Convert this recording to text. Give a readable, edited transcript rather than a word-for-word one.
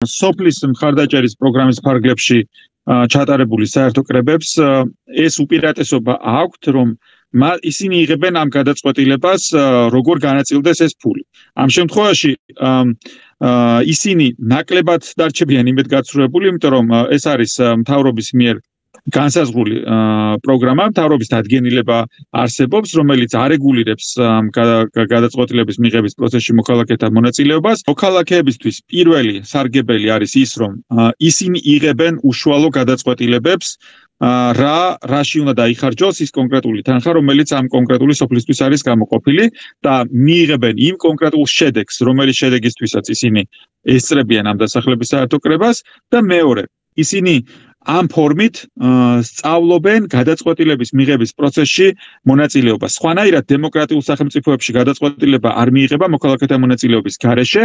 სოფლის მხარდაჭერის პროგრამის ფარგლებში ჩატარებული საერთო კრებებს ეს უპირატესობა აქვთ, რომ ისინი იღებენ ამ გადაწყვეტილებას, როგორ განაწილდეს ეს ფული. ამ შემთხვევაში ისინი ნაკლებად დარჩებიან იმედგაცრუებული, იმიტომ რომ ეს არის მთავრობის მიერ განსაზღვრული პროგრამა, მთავრობის დადგენილება არსებობს, რომელიც არეგულირებს გადაწყვეტილების მიღების პროცესში მოქალაქეთა მონაწილეობას. მოქალაქეებისთვის პირველი სარგებელი არის ის, რომ ისინი იღებენ უშუალო გადაწყვეტილებებს, რაში უნდა დაიხარჯოს ის კონკრეტული თანხა, რომელიც ამ კონკრეტული სოფლისთვის არის გამოყოფილი და მიიღებენ იმ კონკრეტულ შედეგს, რომელიც შედეგისთვისაც ისინი ესწრებიან ამ დასახლების საერთო კრებას და მეორე, ისინი ამ ფორმით სწავლობენ გადაწყვეტილების მიღების პროცესში მონაწილეობას. სხვანაირად დემოკრატიულ სახელმწიფოებში გადაწყვეტილება არ მიიღება მოქალაქეთა მონაწილეობის გარეშე.